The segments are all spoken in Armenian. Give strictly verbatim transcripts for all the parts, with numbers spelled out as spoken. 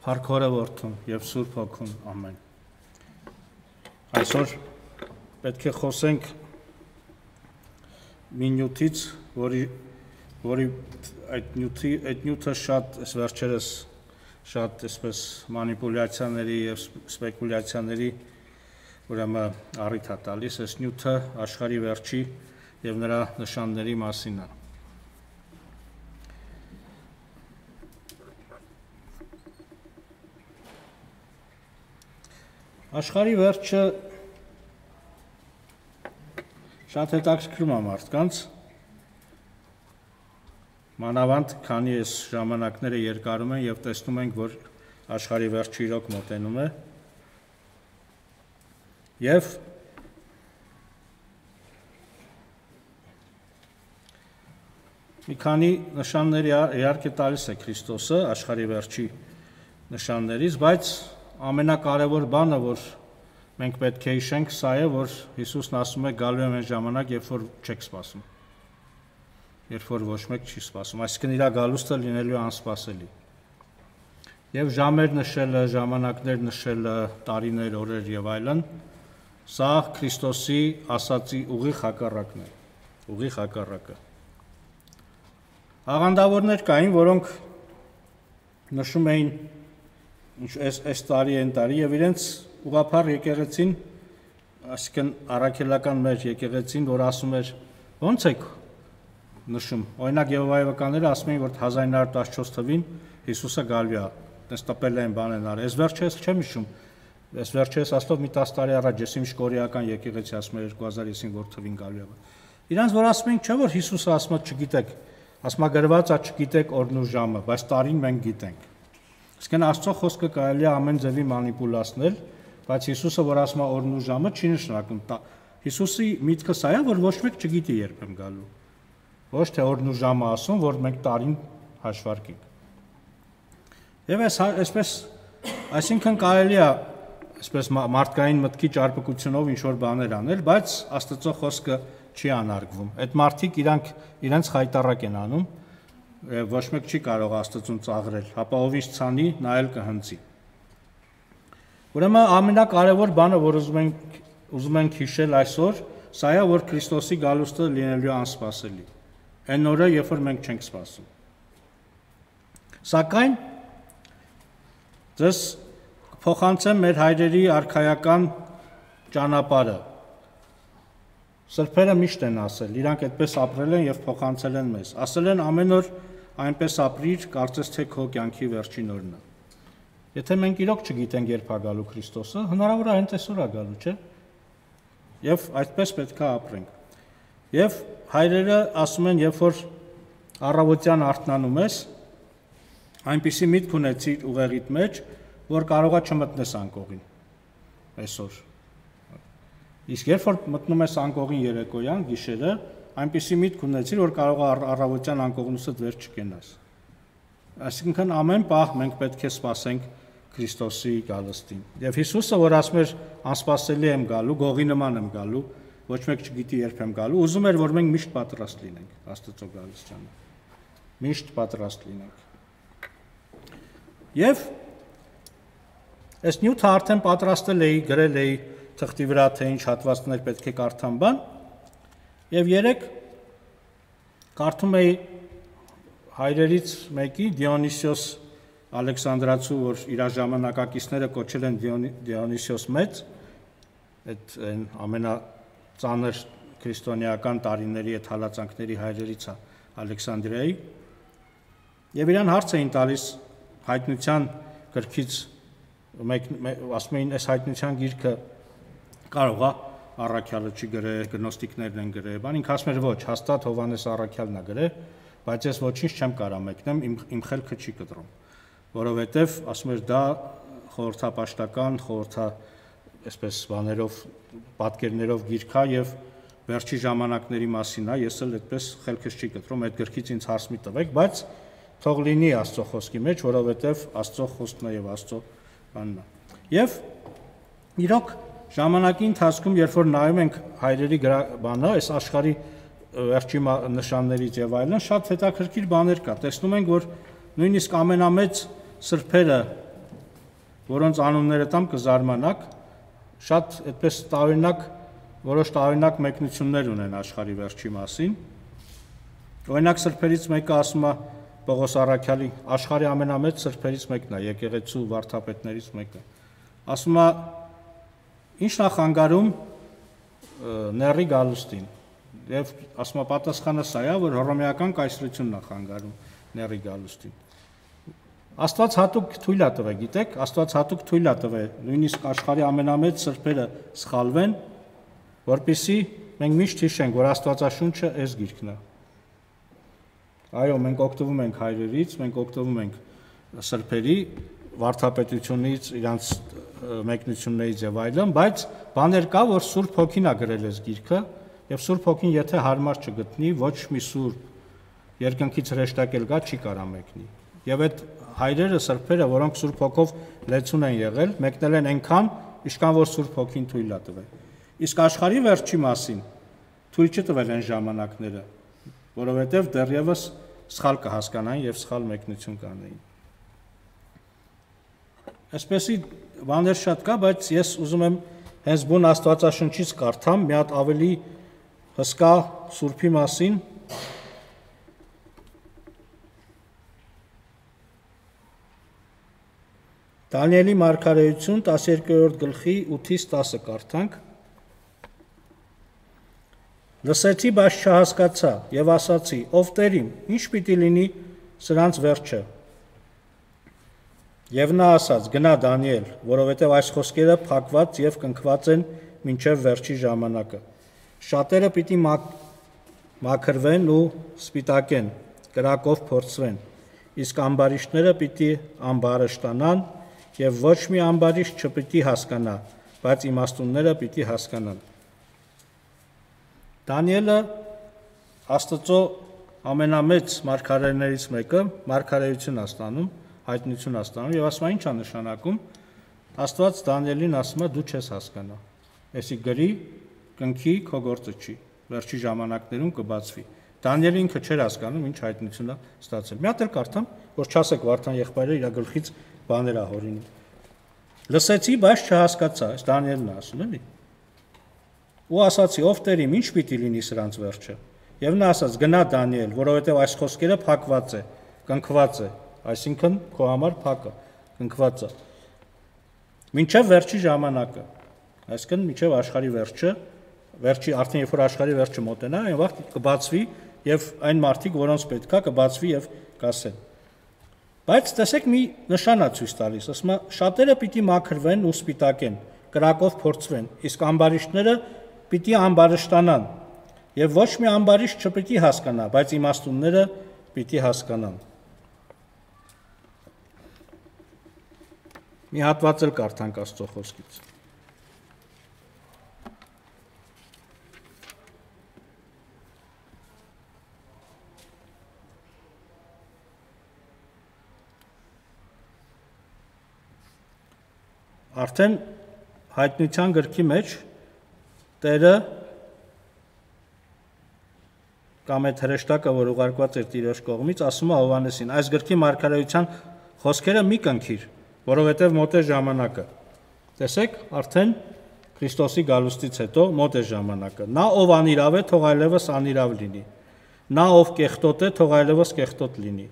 Փառքորը որդուն եւ Սուրբ Հոգուն ամեն։ Այսօր պետք է խոսենք մի նյութից, որի որի այդ նյութի այդ նյութը շատ այս վերջերս շատ այսպես մանիպուլյացիաների եւ սպեկուլյացիաների ուրեմն առիթ է տալիս, այս նյութը աշխարհի վերջի եւ նրա նշանների մասին է։ Աշխարհի վերջը շատ հետաքրքիր է մարդկանց, մանավանդ քանի այս ժամանակները երկարում են եւ տեսնում ենք, որ աշխարհի վերջը իրոք մոտենում է եւ մի քանի նշաններ իհարկե տալիս է Քրիստոսը աշխարհի վերջի նշաններից, բայց ամենակարևոր բանը, որ մենք պետք է հիշենք, սա է, որ Հիսուսն ասում է գալու է այն ժամանակ, երբ որ չեք սպասում, երբ որ ոչ մեկ չի սպասում, այսինքն իր գալուստը լինելու անսպասելի։ Եվ ժամեր նշելը, ժամանակներ նշելը, տարիներ, օրեր եւ այլն, սա Քրիստոսի ասացի ուղիղ հակառակն է, ուղիղ հակառակը։ Աղանդավորներ կային, որոնք նշում էին այս այս տարի են տարի եւ իրենց ուղղափառ եկեղեցին, այսինքն առաքելական մեր եկեղեցին, որ ասում էր ո՞նց եք նշում, օրինակ Եհովայի վկաները ասում էին, որ հազար ինը հարյուր տասնչորս թվին Հիսուսը գալու է, այդպես տպել են բան են արել, այս վերջը ես չեմ հիշում, այս վերջը ես ասելով մի տասը տարի առաջ ես իմիշ կորեական եկեղեցի ասում էր երկու հազար հինգ որ թվին գալու է։ Իրանց որ ասում են, չէ՞ որ Հիսուսը ասում է չգիտեք, ասում է գրված է չգիտեք օրն ու ժամը, բայց տարին մենք գիտենք։ Իսկն Աստծո խոսքը կարելի է ամեն ձևի մանիպուլացնել, բայց Հիսուսը որ ասում է օրն ու ժամը չի նշանակում։ Հիսուսի միտքը սա է, որ ոչ մեկ չգիտի երբ եմ գալու։ Ոչ թե օրն ու ժամը ասում, որ մենք տարին հաշվարկենք։ Եվ այս այսպես, այսինքն կարելի է այսպես մարդկային մտքի ճարպկությունով ինչ որ բաներ անել, բայց Աստծո խոսքը չի անարգվում։ Այդ մարդիկ իրանք իրենց խայտարակ են անում, ոչ մեկ չի կարող Աստծուն ծաղրել, հապա ով ինչ ցանի, նա էլ կհնձի։ Ուրեմն ամենակարևոր բանը, որ ուզում ենք ուզում ենք հիշել այսօր, սա է, որ Քրիստոսի գալուստը լինելու անսպասելի։ Այն օրը, երբ որ մենք չենք սպասում։ Սակայն դες փոխանցեմ մեր հայրերի արքայական ճանապարհը։ Սրբերը միշտ են ասել, իրանք այդպես ապրել են եւ փոխանցել են մեզ։ Ասել են ամեն օր այնպես ապրիր, կարծես թե քո կյանքի վերջին օրն է։ Եթե մենք իրոք չգիտենք երբ է գալու Քրիստոսը, հնարավոր է հենց այսօր է գալու, չէ՞։ Եվ այդպես պետք է ապրենք։ Եվ հայրերը ասում են, երբ որ առավոտյան արթնանում ես, այնպիսի միտք ունեցիր ուղեղիդ մեջ, որ կարողա չմտնես անկողին այսօր։ Իսկ երբ որ մտնում ես անկողին երեկոյան, գիշերը, այնպիսի միտք ունեցիր, որ կարող է առավոտյան անկողնուսդ վեր չկենաս։ Այսինքն ամեն պահ մենք պետք է սպասենք Քրիստոսի գալստին։ Եվ Հիսուսը, որ ասում էր անսպասելի եմ գալու, գողի նման եմ գալու, ոչ մեկ չգիտի երբ եմ գալու, ուզում էր, որ մենք միշտ պատրաստ լինենք Աստծո գալստյանը։ Միշտ պատրաստ լինենք։ Եվ այս նյութը արդեն պատրաստել էի, գրել էի թղթի վրա, թե ինչ հատվածներ պետք է կարդամ բան, եւ երեք կարդում էի հայրերից մեկի Դիոնիսիոս Ալեքսանդրացու, որ իր ժամանակակիցները կոչել են Դիոնիսիոս մեծ, այդ ամենածանր քրիստոնեական տարիների այդ հալածանքների հայրերից է Ալեքսանդրիայի, եւ իրան հարց էին տալիս հայտնության գրքից, մեկ ասում էին, այս հայտնության գիրքը կարող է առաքյալը չի գրել, գնոստիկներն են գրել, բան ինքը ասում էր ոչ, հաստատ Հովհաննես առաքյալն է գրել, բայց ես ոչինչ չեմ կարող մեկնեմ, իմ իմ խելքը չի կտրում, որովհետև ասում էր դա խորհրդապաշտական, խորհրդա այսպես բաներով, պատկերներով գիրք է եւ վերջի ժամանակների մասին է, ես էլ այդպես խելքս չի կտրում, այդ գրքից ինձ հարց մի տվեք, բայց թող լինի Աստծո խոսքի մեջ, որովհետև Աստծո խոսքն է եւ Աստծո բանն է։ Եվ իրոք ժամանակի ընթացքում, երբ որ նայում ենք հայրերի բանը, այս աշխարհի վերջի նշաններից եւ այլն, շատ հետաքրքիր բաներ կա։ Տեսնում ենք, որ նույնիսկ ամենամեծ սրբերը որոնց անունները տամ կզարմանաք, շատ այդպես տարօրինակ, որոշ տարօրինակ մեկնություններ ունեն աշխարհի վերջի մասին։ Օրինակ սրբերից մեկը ասում է Պողոս Առաքյալի աշխարհի ամենամեծ սրբերից մեկն է, եկեղեցու վարդապետներից մեկը։ Ասում է ինչ նա խանգարում նեռի գալուստին։ Եվ ասում է պատասխանը սա է, որ հռոմեական կայսրությունն է խանգարում նեռի գալուստին։ Աստված հատուկ թույլ է տվել, գիտեք, Աստված հատուկ թույլ է տվել, նույնիսկ աշխարհի ամենամեծ սրբերը սխալվեն, որպեսզի մենք միշտ հիշենք, որ Աստվածաշունչը այս գիրքն է։ Այո, մենք օգտվում ենք հայրերից, մենք օգտվում ենք սրբերի վարդապետությունից, իրանց մեկնություններից եւ այլն, բայց բաներ կա, որ Սուրբ Հոգին է գրել այս գիրքը, եւ Սուրբ Հոգին եթե հարմար չգտնի, ոչ մի սուրբ երկնքից հրեշտակել գա չի կարա մեկնի։ Եվ այդ հայրերը, սրբերը, որոնք Սուրբ Հոգով լեցուն են եղել, մեկնել են այնքան, ինչքան որ Սուրբ Հոգին թույլ է տվել։ Իսկ աշխարհի վերջի մասին թույլ չտվել են ժամանակները, որովհետև դեռևս սխալ կհասկանային եւ սխալ մեկնություն կանեին։ Այսպեսի բաներ շատ կա, բայց ես ուզում եմ հենց բուն Աստվածաշնչից կարդամ մի հատ ավելի հսկա Սուրբի մասին։ Դանիելի մարգարեություն տասներկերորդ գլխի ութից տասը կարդանք։ Լսեցի, բայց չհասկացա եւ ասացի. ով Տեր իմ, ինչ պիտի լինի սրանց վերջը։ Եվ նա ասաց. գնա Դանիել, որովհետեւ այս խոսքերը փակված եւ կնքված են մինչեւ վերջի ժամանակը։ Շատերը պիտի մաքրվեն ու սպիտակեն, կրակով փորձվեն, իսկ ամբարիշտները պիտի ամբարշտանան եւ ոչ մի ամբարիշտ չպիտի հասկանա, բայց իմաստունները պիտի հասկանան։ Դանիելը Աստծո ամենամեծ մարգարեներից մեկը, մարգարեություն է ստանում, հայտնություն է ստանում եւ ասում է ի՞նչ է նշանակում։ Աստված Դանիելին ասում է դու չես հասկանա։ Էսի գրի, կնքի, քո գործը չի։ Վերջի ժամանակներում կբացվի։ Դանիելը ինքը չէր հասկանում, ինչ հայտնություն է ստացել։ Մի հատ էլ կարդամ, որ չասեք Վարդան եղբայրը իր գլխից բաներ է հորինում։ Լսեցի, բայց չհասկացա, այս Դանիելն է ասում, էլի։ Ու ասացի, ով Տեր իմ, ինչ պիտի լինի սրանց վերջը։ Եվ նա ասաց. գնա Դանիել, որովհետև այս խոսքերը փակված է, կնքված է, այսինքն քո համար փակ է, կնքված է։ Մինչև վերջի ժամանակը, այսինքն մինչև աշխարհի վերջը, վերջի արդեն երբ որ աշխարհի վերջը մոտենա, այն վաղ կբացվի եւ այն մարդիկ, որոնց պետքա, կբացվի եւ կասեն։ Բայց տեսեք մի նշան է ցույց տալիս, ասում է շատերը պիտի մաքրվեն ու սպիտակեն, կրակով փորձվեն, իսկ ամբարիշտները պիտի ամբարշտանան եւ ոչ մի ամբարիշտ չպիտի հասկանա, բայց իմաստունները պիտի հասկանան։ Մի հատված էլ կարդանք Աստծո խոսքից։ Արդեն հայտնության գրքի մեջ Տերը կամ այդ հրեշտակը, որ ուղարկված էր Տիրոջ կողմից, ասում է Հովհաննեսին. այս գրքի մարգարեության խոսքերը մի կնքիր, որովհետև մոտ է ժամանակը։ Տեսեք, արդեն Քրիստոսի գալուստից հետո մոտ է ժամանակը։ Նա ով անիրավ է, թող այլևս անիրավ լինի։ Նա ով կեղտոտ է, թող այլևս կեղտոտ լինի։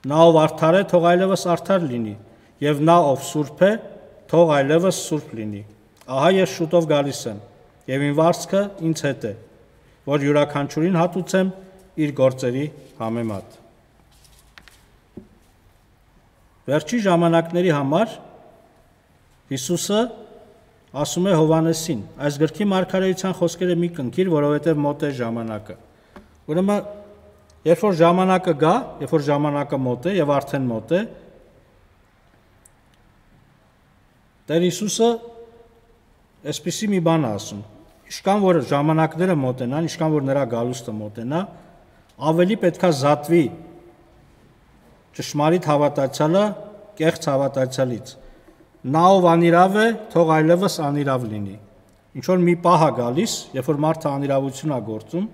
Նա ով արդար է, թող այլևս արդար լինի, եւ նա ով սուրբ է, թող այլևս սուրբ լինի։ Ահա ես շուտով գալիս եմ, եւ իմ վարձքը ինձ հետ է, որ յուրաքանչյուրին հատուցեմ իր գործերի համեմատ։ Վերջի ժամանակների համար Հիսուսը ասում է Հովհաննեսին. այս գրքի մարգարեության խոսքերը մի կնքիր, որովհետև մոտ է ժամանակը։ Ուրեմն, երբ որ ժամանակը գա, երբ որ ժամանակը մոտ է եւ արդեն մոտ է, Տեր Հիսուսը այսպիսի մի բան ասում. Ինչքան որ ժամանակները մոտենան, ինչքան որ նրա գալուստը մոտենա, ավելի պետքա զատվի ճշմարիտ հավատացյալը կեղծ հավատացյալից։ Նա ով անիրավ է, թող այլևս անիրավ լինի։ Ինչ որ մի պահ է գալիս, երբ որ մարդը անիրավություն է գործում,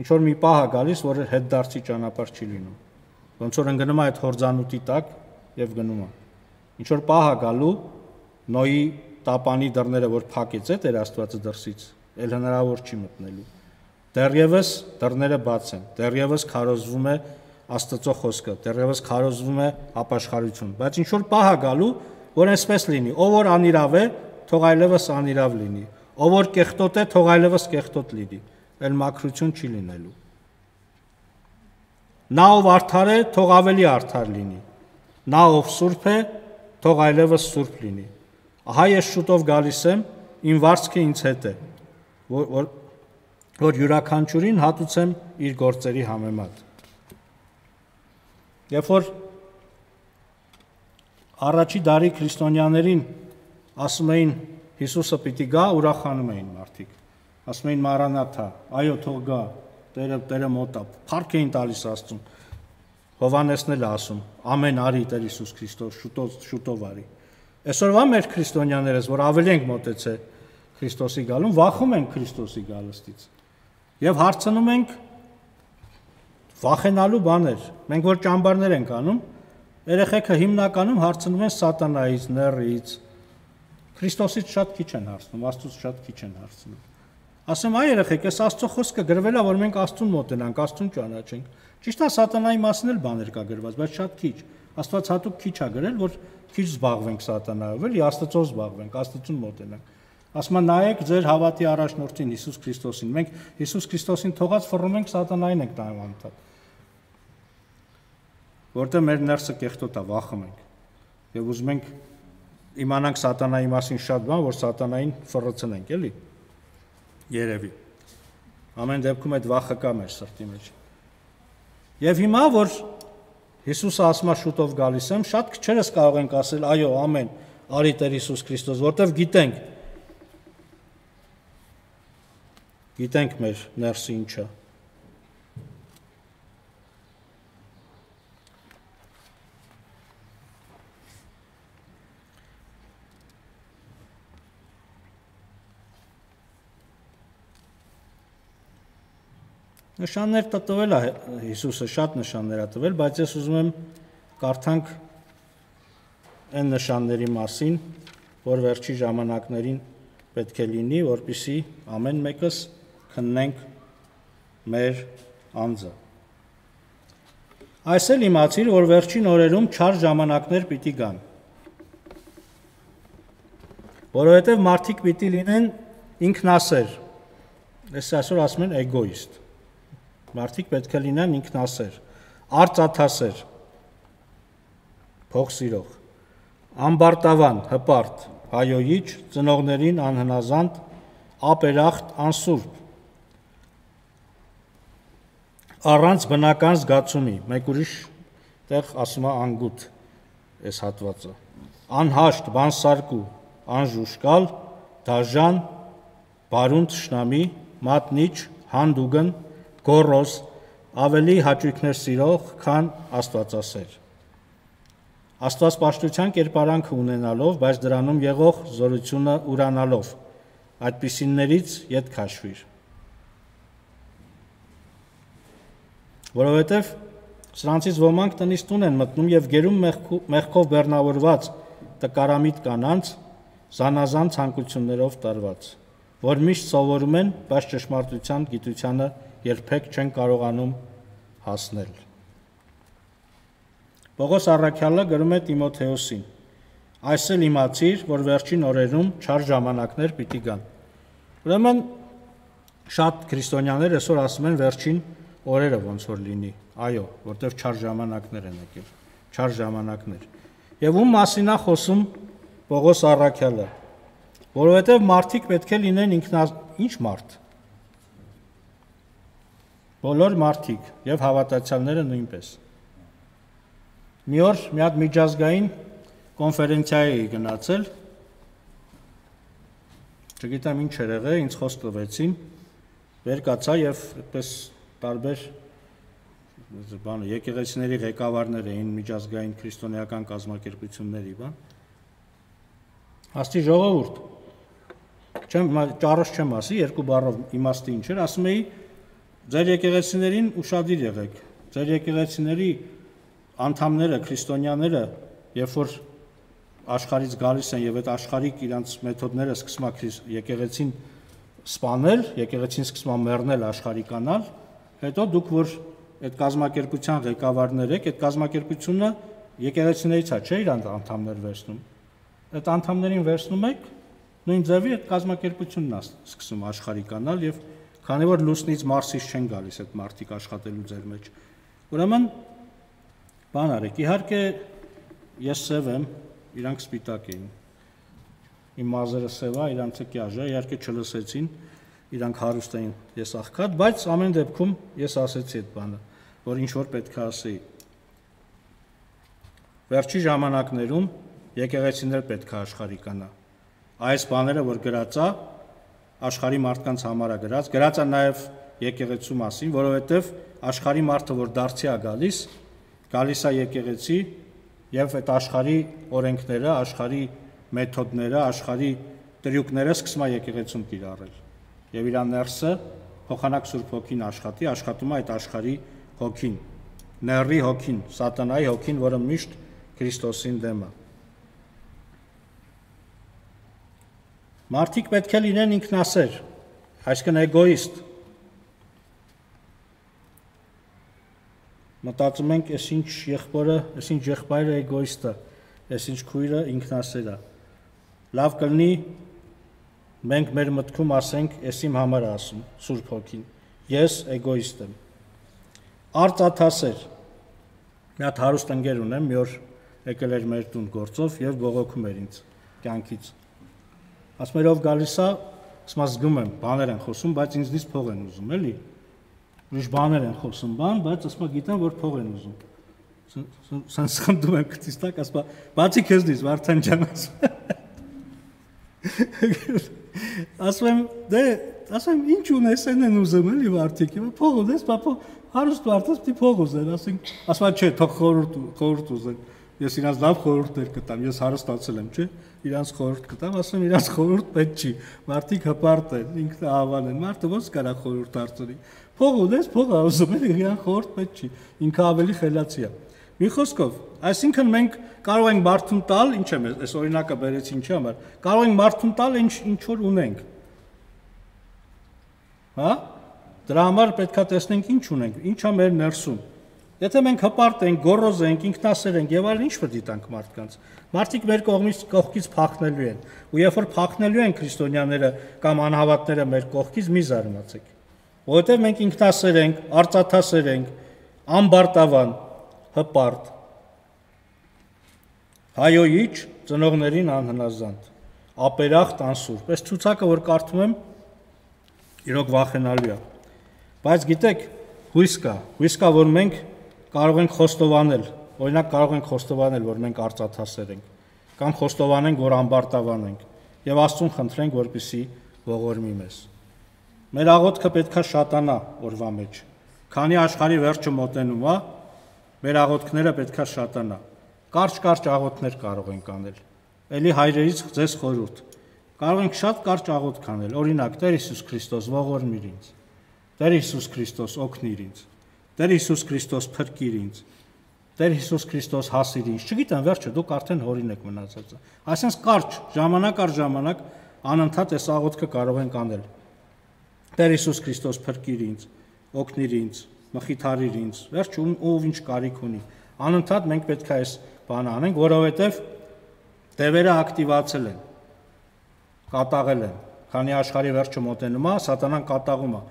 ինչ որ մի պահ է գալիս, որ հետ դարձի ճանապարհ չի լինում։ Ոնց որ ընկնում է այդ հորձանուտի տակ եւ գնում է։ ինչ որ պահ է գալու Նոյի տապանի դռները, որ փակեց է Տեր Աստվածը դրսից, էլ հնարավոր չի մտնելու։ Դեռևս դռները բաց են, դեռևս քարոզվում է Աստծո խոսքը, դեռևս քարոզվում է ապաշխարություն, բայց ինչ որ պահ է գալու, որ այսպես լինի, ով որ անիրավ է, թող այլևս անիրավ լինի, ով որ կեղտոտ է, թող այլևս կեղտոտ լինի, էլ մաքրություն չի լինելու։ Նա ով արդար է, թող ավելի արդար լինի, նա ով սուրբ է, թող այլևս սուրբ լինի։ Ահա ես շուտով գալիս եմ, իմ վարձքը ինձ հետ է, որ, որ, որ յուրաքանչյուրին հատուցեմ իր գործերի համեմատ։ Երբ որ առաջի դարի քրիստոնյաներին ասում էին Հիսուսը պիտի գա, ուրախանում էին մարդիկ։ Ասում էին Մարանաթա, այո, թող գա, Տերը, Տերը մոտ է, փառք էին տալիս Աստծուն։ Հովհաննեսն էլ ասում, ամեն արի Տեր Հիսուս Քրիստոս, շուտով, շուտով արի։ Այսօրվա մեր քրիստոնյաներս, որ ավելի ենք մոտեցել Քրիստոսի գալուն, վախում ենք Քրիստոսի գալստից։ Եվ հարցնում ենք վախենալու բաներ։ Մենք որ ճամբարներ ենք անում, երեխեքը հիմնականում հարցնում են սատանայից, նեռից։ Քրիստոսից շատ քիչ են հարցնում, Աստծուց շատ քիչ են հարցնում։ Ասեմ, այ երեխեք, այս Աստծո խոսքը գրվել է, որ մենք Աստծուն մոտենանք, Աստծուն ճանաչենք։ Ճիշտ է, սատանայի մասին էլ բաներ կա գրված, բայց շատ քիչ։ Աստված հատուկ քիչ է գրել, որ քիչ զբաղվենք սատանայով, էլի Աստծո զբաղվենք, Աստծուն մոտենանք։ Ասում են, նայեք ձեր հավատի առաջնորդին Հիսուս Քրիստոսին։ Մենք Հիսուս Քրիստոսին թողած ֆռում ենք, սատանային ենք նայում անդադ։ Որտեղ մեր ներսը կեղտոտ է, վախում ենք։ Եվ ուզում ենք իմանանք սատանայի մասին շատ բան, որ սատանային ֆռցնենք, էլի։ Երևի։ Ամեն դեպքում այդ վախը կա մեր սրտի մեջ։ Եվ հիմա որ Հիսուսը ասում է շուտով գալիս եմ, շատ քչերս կարող ենք ասել, այո, ամեն, արի Տեր Հիսուս Քրիստոս, որտեվ գիտենք գիտենք մեր ներսը ինչ է։ Նշաններ տվել է Հիսուսը, շատ նշաններ է տվել, բայց ես ուզում եմ կարդանք այն նշանների մասին, որ վերջի ժամանակներին պետք է լինի, որպեսզի ամեն մեկս քննենք մեր անձը։ Այս էլ իմացիր, որ վերջին օրերում չար ժամանակներ պիտի գան, որովհետև մարդիկ պիտի լինեն ինքնասեր, ես այսօր ասում են էգոիստ, մարդիկ պետք է լինեն ինքնասեր, արծաթասեր, փող սիրող, ամբարտավան, հպարտ, հայոյիչ, ծնողներին անհնազանդ, ապերախտ, անսուրբ, առանց բնական զգացումի, մեկ ուրիշ տեղ ասում է անգութ այս հատվածը, անհաշտ, բանսարկու, անժուշկալ, դաժան, բարուն թշնամի, մատնիչ, հանդուգն, գոռոզ, ավելի հաճույքներ սիրող, քան Աստվածասեր։ Աստվածպաշտության կերպարանքը ունենալով, բայց դրանում եղող զորությունը ուրանալով, այդպիսիններից ետ քաշվիր։ Որովհետև սրանցից ոմանք տնից տուն են մտնում և գերում մեղքով բեռնավորված տկարամիտ կանանց, զանազան ցանկություններով տարված, որ միշտ սովորում են, բայց ճշմարտության գիտությանը երբեք չեն կարողանում հասնել։ Պողոս առաքյալը գրում է Տիմոթեոսին. այս էլ իմացիր, որ վերջին օրերում չար ժամանակներ պիտի գան։ Ուրեմն շատ քրիստոնյաներ այսօր ասում են վերջին օրերը ոնց որ լինի, այո, որտեղ չար ժամանակներ են եկել, չար ժամանակներ։ Եվ ում մասին է խոսում Պողոս առաքյալը, որովհետև մարդիկ պետք է լինեն ինքնա ինչ մարդ։ Բոլոր մարդիկ եւ հավատացյալները նույնպես։ Մի օր մի հատ միջազգային կոնֆերենցիայի էի գնացել, չգիտեմ ինչ էր եղել, ինձ խոսք տվեցին, վեր կացա եւ այդպես տարբեր բանը եկեղեցիների ղեկավարներ էին, միջազգային քրիստոնեական կազմակերպությունների, բան։ Աստի ժողովուրդ, չեմ ճառոս չեմ ասի, երկու բառով իմաստը ինչ էր, ասում էի ձեր եկեղեցիներին ուշադիր եղեք, ձեր եկեղեցիների անդամները, քրիստոնյաները, երբ որ աշխարհից գալիս են եւ այդ աշխարհիկ իրանց մեթոդները սկսում է եկեղեցին սպանել, եկեղեցին սկսում է մեռնել, աշխարհիկանալ, հետո դուք որ այդ կազմակերպության ղեկավարներ եք, այդ կազմակերպությունը եկեղեցիներից է, չէ՞ իրանց անդամներ վերցնում։ Այդ անդամներին վերցնում եք, նույն ձևի այդ կազմակերպությունն է սկսում աշխարհիկանալ եւ քանի որ լուսնից Մարսից չեն գալիս այդ մարդիկ աշխատելու ձեր մեջ։ Ուրեմն բան արեք, իհարկե ես սև եմ, իրանք սպիտակ էին։ Իմ մազերը սև է, իրանցը կյաժ է, իհարկե չլսեցին, իրանք հարուստ էին, ես աղքատ, բայց ամեն դեպքում ես ասեցի այդ բանը, որ ինչ որ պետք է ասեի։ Վերջի ժամանակներում եկեղեցիներ պետք է աշխարհիկանա։ Այս բաները, որ գրած է, աշխարհի մարդկանց համար է գրած, գրած է նաև եկեղեցու մասին, որովհետև աշխարհի մարդը, որ դարձի է գալիս, գալիս է եկեղեցի եւ այդ աշխարհի օրենքները, աշխարհի մեթոդները, աշխարհի տրյուկները սկսում է եկեղեցում կիրառել։ Եվ իր ներսը փոխանակ Սուրբ Հոգին աշխատի, աշխատում է այդ աշխարհի հոգին, նեռի հոգին, սատանայի հոգին, որը միշտ Քրիստոսին դեմ է։ Մարդիկ պետք է լինեն ինքնասեր, այսինքն էգոիստ։ Մտածում ենք, այս ինչ եղբորը, այս ինչ եղբայրը էգոիստ է, այս ինչ քույրը ինքնասեր է։ Լավ կլինի մենք մեր մտքում ասենք, ես իմ համար ասում, Սուրբ Հոգին, ես էգոիստ եմ։ Արծաթասեր, մի հատ հարուստ ընկեր ունեմ, մի օր եկել էր մեր տուն գործով եւ բողոքում էր ինձ կյանքից։ Ասում էր ով գալիս է, ասում զգում եմ, բաներ են խոսում, բայց ինձնից փող են ուզում, էլի։ Ուրիշ բաներ են խոսում, բան, բայց ասում գիտեմ, որ փող են ուզում։ Սենց խնդում եմ քցից տակ, ասում բացի քեզնից, Վարդան ջան, ասում եմ, դե, ասում եմ, ինչ ունես, են են ուզում, էլի Վարդիկ, փող ունես, բա հարուստ Վարդաս պիտի փող ուզեն, ասենք, ասում չէ, թող խորհուրդ ուզեն։ Ես իրանց լավ խորհուրդներ կտամ, ես հարստացել եմ, չէ՞, իրանց խորհուրդ կտամ, ասում իրանց խորհուրդ պետք չի, մարդիկ հպարտ են, ինքնահավան են, մարդը ոնց կարա խորհուրդ հարցնի։ Փող ունես, փող ուզում են, իրան խորհուրդ պետք չի, ինքը ավելի խելացի է։ Մի խոսքով, այսինքն մենք կարող ենք մարդուն տալ, ինչ եմ, այս օրինակը բերեցի ինչի համար, կարող ենք մարդուն տալ ինչ ինչ որ ունենք։ Հա? Դրա համար պետքա տեսնենք ինչ ունենք, ինչա մեր ներսում։ Եթե մենք հպարտ ենք, գոռոզ ենք, ինքնասեր ենք եւ այլն, ինչ պետք է տանք մարդկանց։ Մարդիկ մեր կողմից կողքից փախնելու են։ Ու երբ որ փախնելու են քրիստոնյաները կամ անհավատները մեր կողքից, մի զարմացեք։ Որովհետեւ մենք ինքնասեր ենք, արծաթասեր ենք, ամբարտավան, հպարտ։ Հայոյիչ, ծնողներին անհնազանդ, ապերախտ, անսուրբ։ Այս ցուցակը, որ կարդում եմ, իրոք վախենալու է։ Բայց գիտեք, հույս կա, հույս կա, որ մենք կարող ենք խոստովանել, օրինակ կարող ենք խոստովանել, որ մենք արծաթասեր ենք, կամ խոստովանենք, որ ամբարտավան ենք, եւ Աստծուն խնդրենք, որպեսզի ողորմի մեզ։ Մեր աղոթքը պետքա շատանա օրվա մեջ։ Քանի աշխարհի վերջը մոտենում է, մեր աղոթքները պետքա շատանա։ Կարճ-կարճ աղոթքներ կարող ենք անել։ Էլի հայրերից ձեզ խորհուրդ։ Կարող ենք շատ կարճ աղոթք անել, օրինակ Տեր Հիսուս Քրիստոս ողորմիր ինձ։ Տեր Հիսուս Քրիստոս օգնիր ինձ։ Տեր Հիսուս Քրիստոս փրկիր ինձ։ Տեր Հիսուս Քրիստոս հասիր ինձ։ Չգիտեմ, վերջը դուք արդեն հորին եք մնացածը։ Այսինքն կարճ, ժամանակ առ ժամանակ անընդհատ այս աղոթքը կարող ենք անել։ Տեր Հիսուս Քրիստոս փրկիր ինձ, օգնիր ինձ, մխիթարիր ինձ։ Վերջ ով ինչ կարիք ունի։ Անընդհատ մենք պետք է այս բանը անենք, որովհետև դևերը ակտիվացել են, կատաղել են։ Քանի աշխարհի վերջը մոտենում է, սատանան կատաղում է։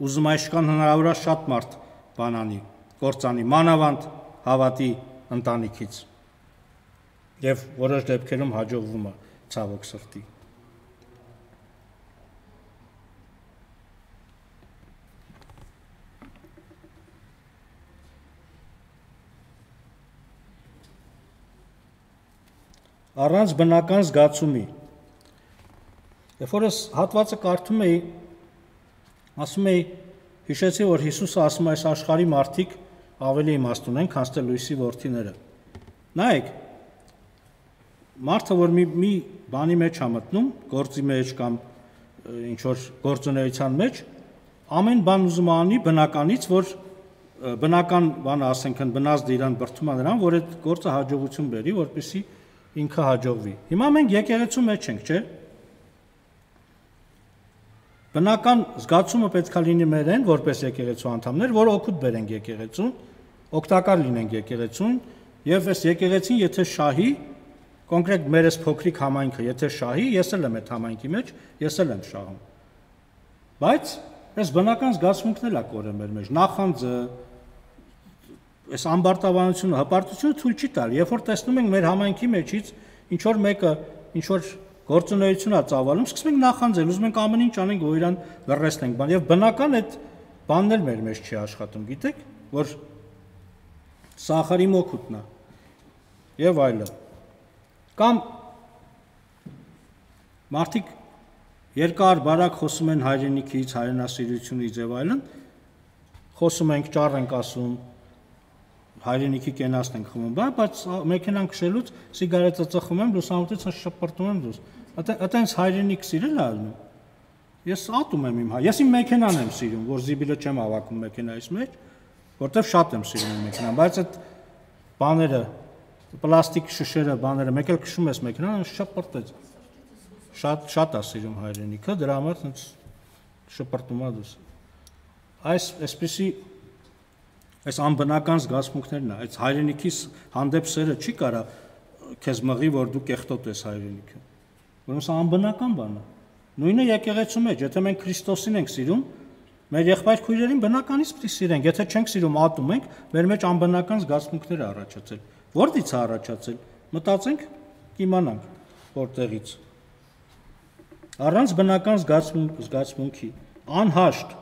Ուզում է իշքան հնարավոր է շատ մարդ բանանի, կործանի, մանավանդ հավատի ընտանիքից։ Եվ որոշ դեպքերում հաջողվում է ցավոք սրտի։ Առանց բնական զգացումի։ Երբ որ ես հատվածը կարդում էի, ասում էի, հիշեցի, որ Հիսուսը ասում է այս աշխարհի մարդիկ ավելի իմաստ ունեն, քան թե լույսի որդիները։ Նայեք, մարդը, որ մի, մի բանի մեջ է մտնում, գործի մեջ կամ ինչ որ գործունեության մեջ, ամեն բան ուզում է անի բնականից, որ բնական բանը, ասենք, բնազդը իրան բրդում է նրան, որ այդ գործը հաջողություն բերի, որպեսզի ինքը հաջողվի։ Հիմա մենք եկեղեցու մեջ ենք, չէ՞։ Բնական զգացումը պետք է լինի մերեն, որպես եկեղեցու անդամներ, որ օգուտ բերենք եկեղեցուն, օգտակար լինենք եկեղեցուն, եւ այս եկեղեցին եթե շահի, կոնկրետ մեր այս փոքրիկ համայնքը, եթե շահի, ես էլ եմ այդ համայնքի մեջ, ես էլ եմ շահում։ Բայց այս բնական զգացմունքն էլ է կորել մեր մեջ, նախանձը, այս ամբարտավանությունը, հպարտությունը թույլ չի տալ, երբ որ տեսնում ենք մեր համայնքի մեջից ինչ որ մեկը, ինչ որ գործունեություն է ծավալում, սկսում ենք նախանձել, ուզում ենք ամեն ինչ անենք, որ իրան լռեցնենք, բան եւ բնական այդ բանն էլ մեր մեջ չի աշխատում, գիտեք, որ սախարի մոքուտն է եւ այլն։ Կամ մարդիկ երկար բարակ խոսում են հայրենիքից, հայրենասիրությունից եւ այլն, խոսում ենք, ճառ ենք ասում, հայրենիքի կենացն ենք խմում, բայց մեքենան քշելուց սիգարետը ծխում եմ, լուսամուտից շպրտում եմ դուրս։ Այտենց հայրենիք սիրել է ալնում։ Ես ատում եմ իմ հայ, ես իմ մեքենան եմ սիրում, որ զիբիլը չեմ հավաքում մեքենայից մեջ, որտեվ շատ եմ սիրում իմ մեքենան, բայց այդ բաները, պլաստիկ շշերը, բաները, մեկ էլ քշում ես մեքենան, շպրտեց։ Շատ շատ է սիրում հայրենիքը, դրա համար ինձ շպրտում է դուրս։ Այս այսպեսի այս անբնական զգացմունքներն է, այս հայրենիքի հանդեպ սերը չի կարա քեզ մղի, որ դու կեղտոտ ես հայրենիքը։ Որոնց անբնական բան է։ Նույնը եկեղեցու մեջ, եթե մենք Քրիստոսին ենք սիրում, մեր եղբայր քույրերին բնականից պիտի սիրենք, եթե չենք սիրում, ատում ենք, մեր մեջ անբնական զգացմունքներ է առաջացել։ Որտից է առաջացել։ Մտածենք, կիմանանք որտեղից։ Առանց բնական զգացմունք, զգացմունքի, անհաշտ,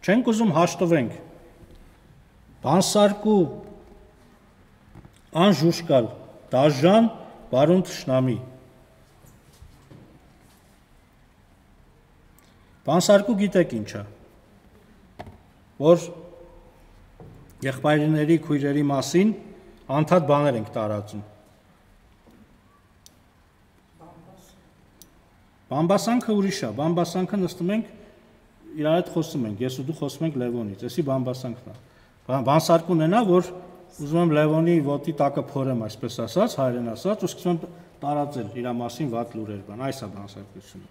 չենք ուզում հաշտվենք։ Բանսարկու, անժուշկալ, դաժան, բարուն թշնամի։ Բանսարկու գիտեք ինչ է, որ եղբայրների, քույրերի մասին անդադ բաներ ենք տարածում։ Բամբասանքը ուրիշ է, բամբասանքը նստում ենք, իրար հետ խոսում ենք, ես ու դու խոսում ենք Լևոնից, էսի բամբասանքն է։ Բանսարկուն է նա, որ ուզում եմ Լևոնի ոտի տակը փորեմ, այսպես ասած, հայերեն ասած, ու սկսում եմ տարածել իր մասին վատ լուրեր, բան, այս է բանսարկությունը։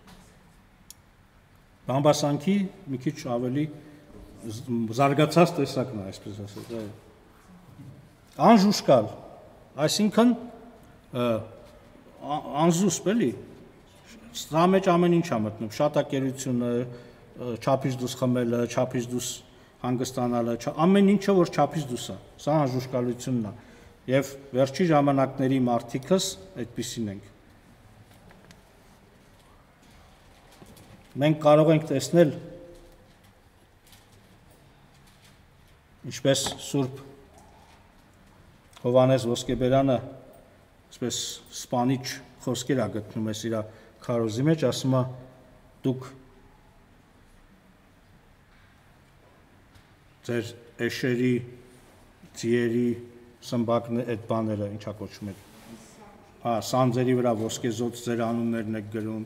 Բամբասանքի մի քիչ ավելի զարգացած տեսակն է, այսպես ասած, այո։ Անժուշկալ, այսինքն անզուսպ էլի, սա մեջ ամեն ինչ է մտնում, շատակերությունը, չափից դուրս խմելը, չափից դուրս հանգստանալը, ամեն ինչը, որ չափից դուրս է, սա անժուշկալությունն է, և վերջի ժամանակների մարդիկս այդպիսին ենք։ Մենք կարող ենք տեսնել, ինչպես Սուրբ Հովհաննես Ոսկեբերյանը, այսպես սպանիչ խոսքեր է գտնում ես իր քարոզի մեջ, ասում է դուք ձեր էշերի, ձիերի, սմբակն այդ բաները ինչա կոչում եք, հա, սանձերի վրա ոսկեզոծ ձեր անուններն եք գրում,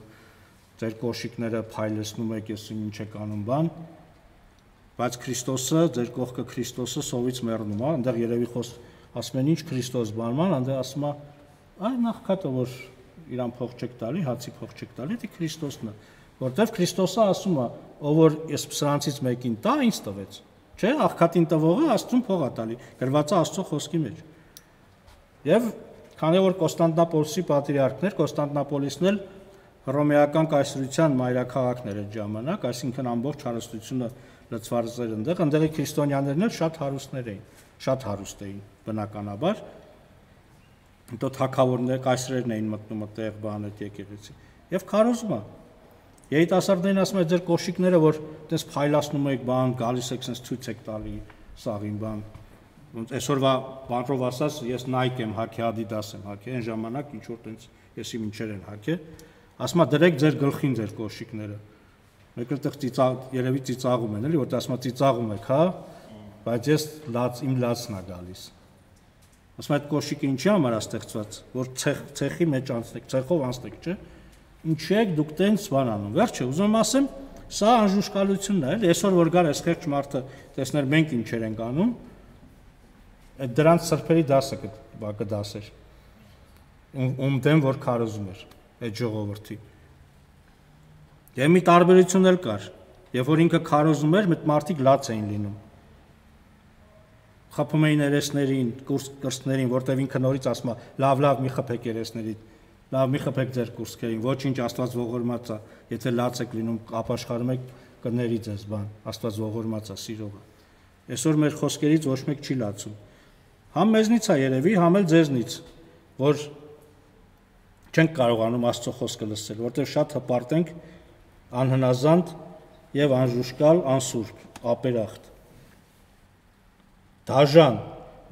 ձեր կոշիկները փայլեցնում եք, ես ինչ եք անում բան, բայց Քրիստոսը, ձեր կողքը Քրիստոսը սովից մեռնում է, այնտեղ երևի խոս ասում են ինչ Քրիստոս բանման, այնտեղ ասում է, այ նախքատը, որ իրան փող չեք տալի, հացի փող չեք տալի, դա Քրիստոսն է, որտեղ Քրիստոսը ասում է, ով որ ես սրանցից մեկին տա, ինձ տվեց, չէ, աղքատին տվողը Աստծուն փող է տալի, գրված է Աստծո խոսքի մեջ։ Եվ քանի որ Կոստանդնապոլսի պատրիարքներ, Կոստանդնապոլիսն էլ հռոմեական կայսրության մայրաքաղաքն էր այդ ժամանակ, այսինքն ամբողջ հարստությունը լցված էր այնտեղ, այնտեղի քրիստոնյաներն էլ շատ հարուստներ էին, շատ հարուստ էին բնականաբար։ Հետո թագավորներ, կայսրերն էին մտնում այդտեղ բան այդ եկեղեցի։ Եվ քարոզում է։ Երիտասարդներին ասում է ձեր կոշիկները, որ այդպես փայլացնում եք բան, գալիս եք sense ցույց եք տալի սաղին բան։ Ոնց այսօրվա բանրով ասած ես Nike եմ հագի, Adidas եմ հագի, այն ժամանակ ինչ որ տենց եսի ինչեր են հագի։ Ասում է դրեք ձեր գլխին ձեր կոշիկները։ Մեկը տեղ ծիծա երևի ծիծաղում են, էլի, որ ասում է ծիծաղում եք, հա, բայց ես լաց իմ լացն է գալիս։ Ասում է այդ կոշիկը ինչի համար է ստեղծված, որ ցեխ ցեխի մեջ անցնեք, ցեխով անցնեք, չէ՞։ Ինչի եք դուք տենց բան անում։ Վերջը ուզում եմ ասեմ, սա անժուշկալությունն է, էլի, այսօր որ գար այս խեղճ մարդը տեսներ մենք ինչեր ենք անում, այդ դրանց սրբերի դասը կդասեր։ ում դեմ որ քարոզում էր այդ ժողովրդի։ Եվ մի տարբերություն էլ կար, երբ որ ինքը քարոզում էր, մեծ մարդիկ լաց էին լինում։ Խփում էին երեսներին, կրծքներին, որտեղ ինքը նորից ասում է, լավ, լավ, մի խփեք երեսներին, լավ, մի խփեք ձեր կուրծքերին, ոչինչ, Աստված ողորմած է, եթե լաց եք լինում, ապաշխարում եք, կների ձեզ բան, Աստված ողորմած է, սիրող է։ Այսօր մեր խոսքերից ոչ մեկ չի լացում։ Համ մեզնից է երևի, համ էլ ձեզնից, որ չենք կարողանում Աստծո խոսքը լսել, որտեղ շատ հպարտ ենք, անհնազանդ եւ անժուշկալ, անսուրբ, ապերախտ, դաժան,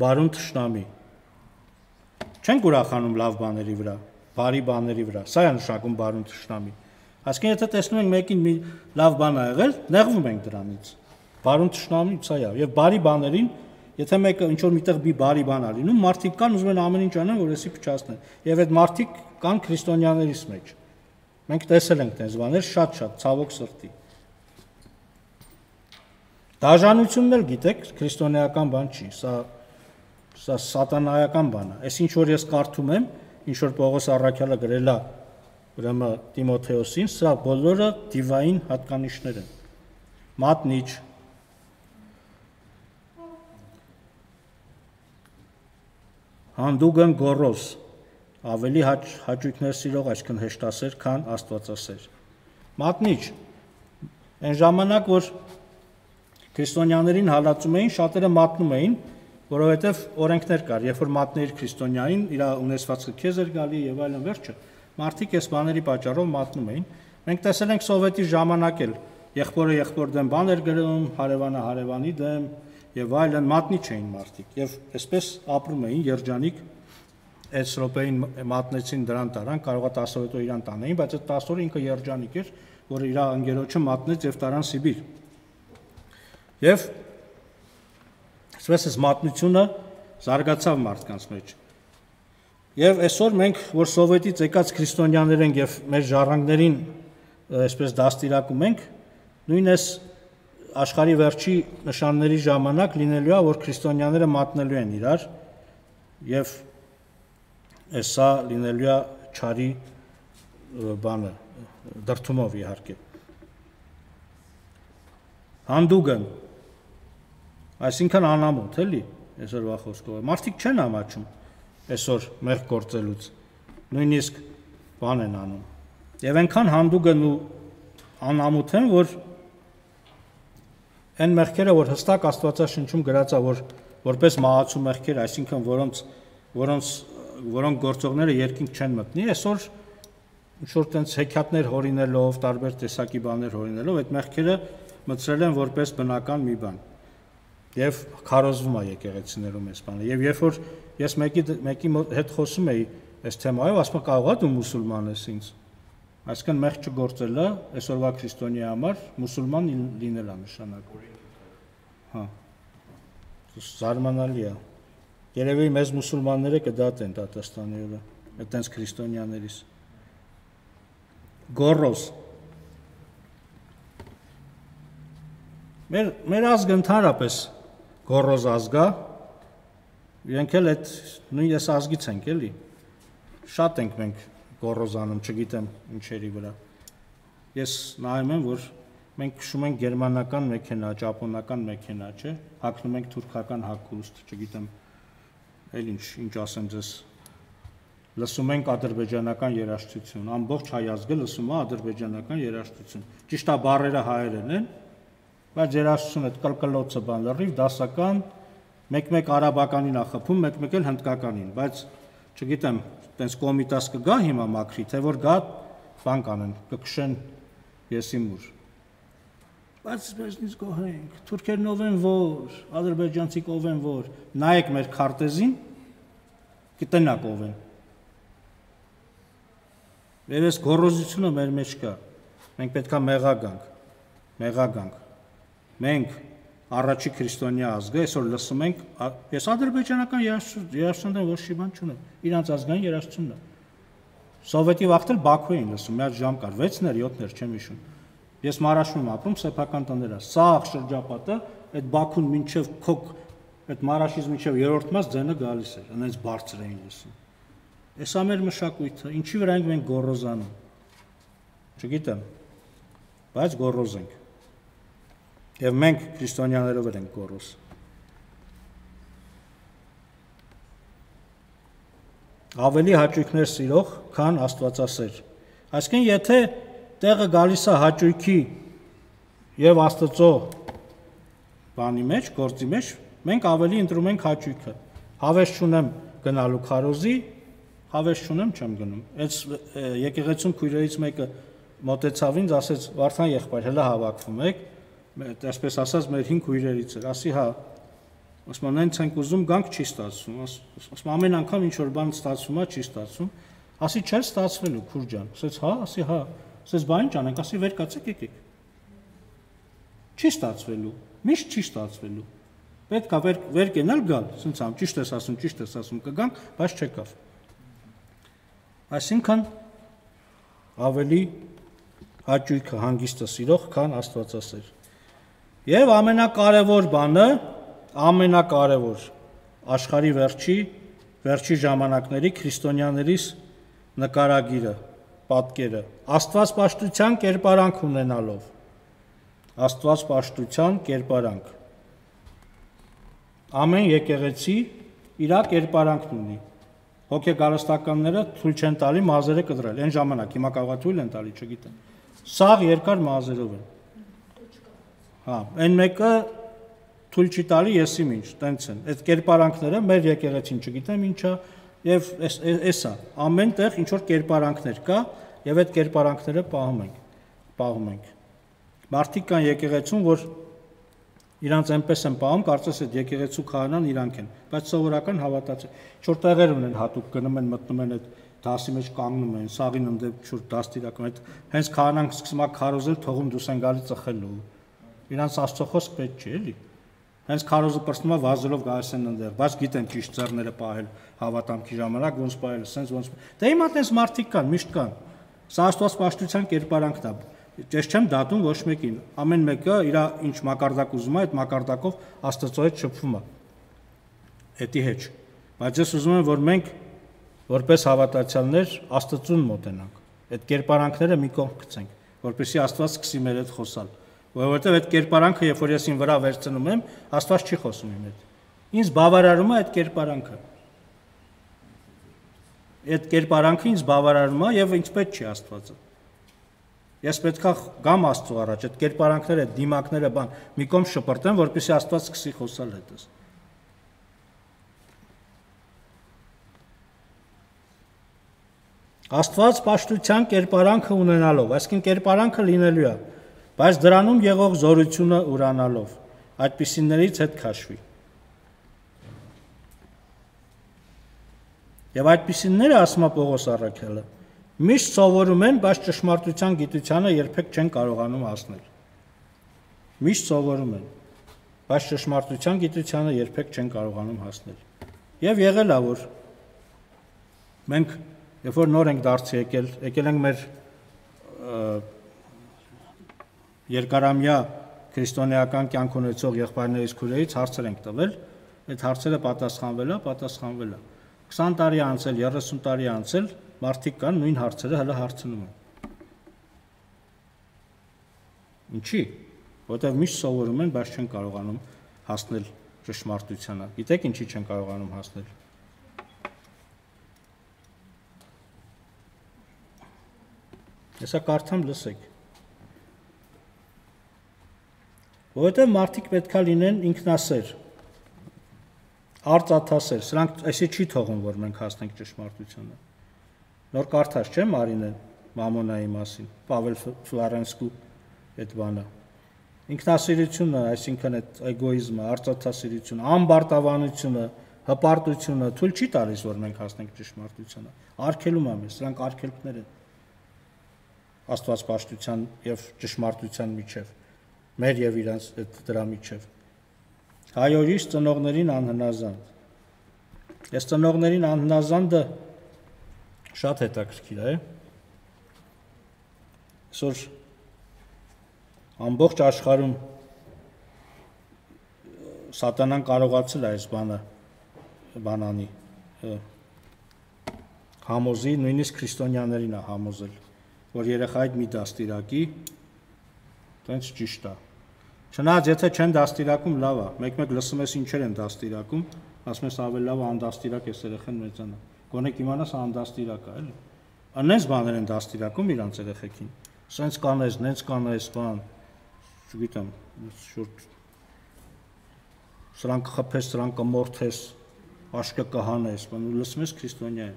բարուն թշնամի։ Չենք ուրախանում լավ բաների վրա, բարի բաների վրա, սա է նշանակում բարուն թշնամի։ Այսինքն եթե տեսնում ենք մեկին մի լավ բան ա եղել, նեղվում ենք դրանից։ Բարուն թշնամի սա է, եւ բարի բաներին, եթե մեկը ինչ որ միտեղ մի բարի բան ա լինում, մարդիկ կան ուզում են ամեն ինչ անեն, որ էսի փչացնեն։ Եվ այդ մարդիկ կան քրիստոնյաներից մեջ։ Մենք տեսել ենք այս բաներ շատ-շատ, ցավոք սրտի։ Դաժանությունն էլ գիտեք, քրիստոնեական բան չի, սա սա սատանայական բան է։ Այս ինչ որ ես կարդում եմ, ինչ որ Պողոս առաքյալը գրել է ուրեմն Տիմոթեոսին, սա բոլորը դիվային հատկանիշներ են։ Մատնիչ, հանդուգն գոռոզ, ավելի հաճ, հաճույքներ սիրող, այսքան հեշտասեր, քան աստվածասեր։ Մատնիչ, այն ժամանակ, որ քրիստոնյաներին հալածում էին, շատերը մատնում էին, որովհետև օրենքներ կար, երբ որ մատնեիր քրիստոնյային, իր ունեցվածքը քեզ էր գալի եւ այլն, վերջը մարդիկ այս բաների պատճառով մատնում էին։ Մենք տեսել ենք սովետի ժամանակ էլ եղբորը եղբոր դեմ բան էր գրում, հարևանը հարևանի դեմ եւ այլն, մատնիչ էին մարդիկ եւ այսպես ապրում էին երջանիկ։ Այս րոպեին մատնեցին դրան տարան, կարող է տասը օր իրան տանեին, բայց այդ տասը օրը ինքը երջանիկ էր, որ իր ընկերոջը մատնեց եւ տարան Սիբիր։ Եվ այսպես էս մատնությունը զարգացավ մարդկանց մեջ։ Եվ այսօր մենք, որ սովետից եկած քրիստոնյաներ ենք եւ մեր ժառանգներին այսպես դաստիարակում ենք, նույն այս աշխարհի վերջի նշանների ժամանակ լինելու է, որ քրիստոնյաները մատնելու են իրար եւ Սա լինելու է չարի բանը, դրդումով իհարկե։ Հանդուգն, այսինքն անամոթ, էլի, այսօրվա խոսքով։ Մարդիկ չեն ամաչում այսօր մեղք գործելուց, նույնիսկ բան են անում։ Եվ այնքան հանդուգն ու անամոթ են, որ այն մեղքերը, որ հստակ Աստվածաշնչում գրած է, որ որպես մահացու մեղքեր, այսինքն որոնց որոնց որոնք գործողները երկինք չեն մտնի, այսօր ինչ-որ տենց հեքիաթներ հորինելով, տարբեր տեսակի բաներ հորինելով, այդ մեղքերը մտցրել են որպես բնական մի բան։ Եվ քարոզվում է եկեղեցիներում այս բանը։ Եվ երբ որ ես մեկի մեկի հետ խոսում էի այս թեմայով, ասում եմ կարող է դու մուսուլման ես ինձ։ Այսինքն մեղք չգործելը այսօրվա քրիստոնյայի համար մուսուլման լինել է նշանակում։ Հա։ Զարմանալի է։ Երևի մեզ մուսուլմանները կդատեն Տատաստանի օրը, այդտենց քրիստոնյաներից։ Գոռոզ։ Մեր մեր ազգը ընդհանրապես գոռոզ ազգ է, իրենք էլ այդ նույն ես ազգից ենք, էլի։ Շատ ենք մենք գոռոզանում, չգիտեմ ինչերի վրա։ Ես նայում եմ, որ մենք քշում ենք գերմանական մեքենա, ճապոնական մեքենա, չէ՞, հագնում ենք թուրքական հագուստ, չգիտեմ Էլ ինչ, ինչ ասեմ ձեզ, լսում ենք ադրբեջանական երաժշտություն, ամբողջ հայ ազգը լսում է ադրբեջանական երաժշտություն։ Ճիշտ է բառերը հայերեն են, բայց երաժշտությունը այդ կլկլոցը բան լրիվ դասական, մեկ-մեկ արաբականին է խփում, մեկ-մեկ էլ հնդկականին, բայց չգիտեմ, տենց կոմիտաս կգա հիմա մաքրի, թե որ գա բան կանեն, կքշեն եսիմուր։ Բայց մեզնից գոհենք, թուրքերն ով են որ, ադրբեջանցիք ով են որ, նայեք մեր քարտեզին, կտնակ ով են։ Եվ այս գոռոզությունը մեր մեջ կա, մենք պետք է մեղագանք, մեղագանք։ Մենք առաջի քրիստոնյա ազգը այսօր լսում ենք, ես ադրբեջանական երաժշտություն ոչ մի բան չունեմ, իրանց ազգային երաժշտությունն է։ Սովետի վաղտել Բաքու էին լսում, մի հատ ժամ կար, վեցներ, յոթներ, չեմ հիշում։ Ես Մարաշում եմ ապրում, սեփական տները, սաղ շրջապատը, այդ Բաքուն մինչև քոք, այդ Մարաշից մինչև երրորդ մաս ձենը գալիս էր, այնպես բարձր էին լսում։ Էս ամեր մշակույթը, ինչի վրա ենք մենք գոռոզանում։ Չգիտեմ, բայց գոռոզ ենք։ Եվ մենք քրիստոնյաներով ենք գոռոզ։ Ավելի հաճույքներ սիրող, քան Աստվածասեր։ Այսինքն, եթե տեղը գալիս է հաճույքի եւ Աստծո բանի մեջ, գործի մեջ, մենք ավելի ընտրում ենք հաճույքը։ Հավես չունեմ գնալու քարոզի, հավես չունեմ չեմ գնում։ Այս եկեղեցում քույրերից մեկը մոտեցավ ինձ, ասեց. «Վարդան եղբայր, հələ հավաքվում եք», այսպես ասած մեր հին քույրերից էր, ասի հա, ասում են հենց ենք ուզում գանք, չի ստացվում, ասում ամեն անգամ ինչ որ բան ստացվում է, չի ստացվում, ասի չէ ստացվելու, քուր ջան, ասեց հա, ասի հա, ասեց բա ինչ անենք, ասի վեր կացեք եկեք, չի ստացվելու, միշտ չի ստացվելու, պետք է վեր, վեր կենալ գալ, ասենց ամ ճիշտ ես ասում, ճիշտ ես ասում, կգանք, բայց չեկավ։ Այսինքն ավելի հաճույքը հանգիստը սիրող, քան Աստվածասեր։ Եվ ամենակարևոր բանը, ամենակարևոր աշխարհի վերջի, վերջի ժամանակների քրիստոնյաներիս նկարագիրը, պատկերը, Աստվածպաշտության կերպարանք ունենալով, Աստվածպաշտության կերպարանք։ Ամեն եկեղեցի իր կերպարանքն ունի։ Հոգեգարստականները թույլ չեն տալի մազերը կտրել, այն ժամանակ, հիմա կարող է թույլ են տալի, չգիտեմ։ Սաղ երկար մազերով են։ Հա, այն մեկը թույլ չի տալի եսի ինչ, տենց են։ Այդ կերպարանքները մեր եկեղեցին չգիտեմ ինչա, եւ էսա, ամեն տեղ ինչ որ կերպարանքներ կա, եւ այդ կերպարանքները պահում ենք, պահում ենք։ Մարդիկ կան եկեղեցում, որ իրանց այնպես են պահում, կարծես այդ եկեղեցու քահանան իրանք են, բայց սովորական հավատաց է։ Ինչ-որ տեղեր ունեն հատուկ գնում են, մտնում են այդ դասի մեջ կանգնում են, սաղին ընդդեմ ինչ-որ դաստիարակում, այդ հենց քահանան սկսում է քարոզել, թողում դուրս են գալի ծխելու։ Իրանց Աստծո խոսք պետք չէ, էլի։ Հենց քարոզը պրծնում է վազելով գալիս են ընդդեմ, բայց գիտեն ճիշտ ձեռները պահել հավատամքի ժամանակ, ոնց պահել, սենց ոնց։ Դե հիմա տես մարդիկ կան, միշտ կան։ Սա Աստվածպաշտության կերպարանքն է։ Ես չեմ դատում ոչ մեկին, ամեն մեկը իր ինչ մակարդակ ուզում է, այդ մակարդակով Աստծո հետ շփվում է։ Էդի հետ։ Բայց ես ուզում եմ, որ մենք որպես հավատացյալներ Աստծուն մոտենանք, այդ կերպարանքները մի կողմ գցենք, որպեսզի Աստված սկսի մեր հետ խոսալ, որովհետև այդ կերպարանքը, երբ որ ես ին վրա վերցնում եմ, Աստված չի խոսում իմ հետ։ Ինձ բավարարում է այդ կերպարանքը։ Այդ կերպարանքը ինձ բավարարում է եւ ինձ պետք չի Աստվածը։ Ես պետք է գամ Աստծո առաջ, այդ կերպարանքները, դիմակները բան մի կողմ շպրտեմ, որպեսզի Աստված սկսի խոսալ հետս։ Աստված պաշտության կերպարանքը ունենալով, այսինքն կերպարանքը լինելու է, բայց դրանում եղող զորությունը ուրանալով, այդպիսիներից հետ քաշվի։ Եվ այդպիսիները, ասում է Պողոս առաքյալը, միշտ սովորում են, բայց ճշմարտության գիտությանը երբեք չեն կարողանում հասնել։ Միշտ սովորում են, բայց ճշմարտության գիտությանը երբեք չեն կարողանում հասնել։ Եվ եղել է, որ մենք, երբ որ նոր ենք դարձի եկել, եկել ենք մեր երկարամյա քրիստոնեական կյանք ունեցող եղբայրներից քույրերից հարցեր ենք տվել, այդ հարցերը պատասխանվել է, պատասխանվել է։ քսան տարի անցել, երեսուն տարի անցել, մարդիկ կան նույն հարցերը հələ հարցնում են։ Ինչի՞։ Որտեղ միշտ սովորում են, բայց չեն կարողանում հասնել ճշմարտությանը։ Գիտեք ինչի չեն կարողանում հասնել։ Հեսա կարդամ լսեք։ Որտեղ մարդիկ պետքա լինեն ինքնասեր, արծաթասեր, սրանք այսի չի թողում, որ մենք հասնենք ճշմարտությանը։ Նոր կարդաց չէ Մարինեն Մամոնայի մասին, Պավել Ֆլորենսկու այդ բանը։ Ինքնասիրությունը, այսինքն այդ էգոիզմը, արծաթասիրությունը, ամբարտավանությունը, հպարտությունը թույլ չի տալիս, որ մենք հասնենք ճշմարտությանը։ Արգելում է մեզ, սրանք արգելքներ են Աստվածպաշտության եւ ճշմարտության միջև, մեր եւ իրանց դրա միջև։ Հայորից ծնողներին անհնազանդ։ Այս ծնողներին անհնազանդը շատ հետաքրքիր է։ Այսօր ամբողջ աշխարհում սատանան կարողացել է այս բանը բանանի համոզի, նույնիսկ քրիստոնյաներին է համոզել, որ երեխայիդ մի դաստիարակի, տենց ճիշտ է։ Չնայած եթե չեն դաստիարակում, լավ է, մեկ-մեկ լսում ես ինչեր են դաստիարակում, ասում ես ավելի լավ է անդաստիարակ ես երեխան մեծանա։ Գոնե կիմանաս անդաստիարակ է, էլի։ Անենց բաներ են դաստիարակում իրանց երեխեքին։ Սենց կանես, նենց կանես, բան, չգիտեմ, շուրջ սրանք խփես, սրանք կմորթես, աշկը կհանես, բան ու լսում ես քրիստոնյա է։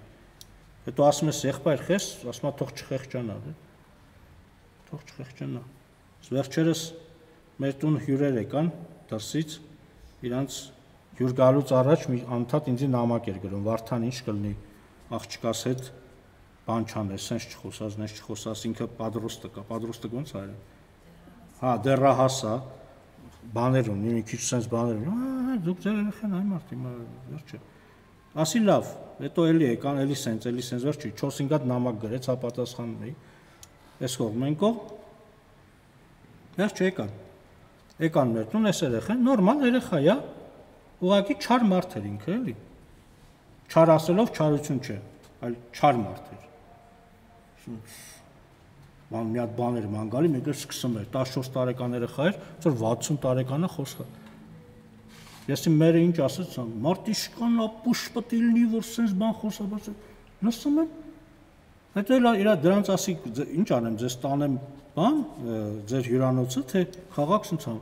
Հետո ասում ես եղբայր խես, ասում է թող չխեղճանա, դե։ Թող չխեղճանա։ Վերջերս մեր տուն հյուրեր եկան դրսից, իրանց հյուր գալուց առաջ մի անդադ ինձ նամակ էր գրում, Վարդան ինչ կլինի աղջկաս հետ բան չանես, սենց չխոսած, նենց չխոսած, ինքը պատրոստը կա, պատրոստը ոնց է արել։ Հա, դեռահաս է, բաներ ունի, մի քիչ սենց բաներ ունի, ահա, դուք ձեր երեխան այ մարդ հիմա վերջը։ Ասի լավ, հետո էլի եկան, էլի սենց, էլի սենց վերջի, չորս-հինգ հատ նամակ գրեց, հապատասխանում էի։ Այս կողմ են կողմ։ Վերջ եկան։ Եկան մեր տուն, այս երեխան, նորմալ երեխա է, ուղղակի չար մարդ էր ինքը, էլի։ Չար ասելով չարություն չէ, այլ չար մարդ էր։ Ման մի հատ բան էր ման գալի, մեկ էլ սկսում էր, տասնչորս տարեկան երեխա էր, որ վաթսուն տարեկանը խոսքը։ Ես իմ մերը ինչ ասեց, մարտիշկան ապուշ պետք է լինի, որ սենց բան խոսա, բայց լսում եմ։ Հետո էլ իրա դրանց ասի, ինչ անեմ, ձեզ տանեմ բան, ձեր հյուրանոցը, թե խաղաք սենց ամ։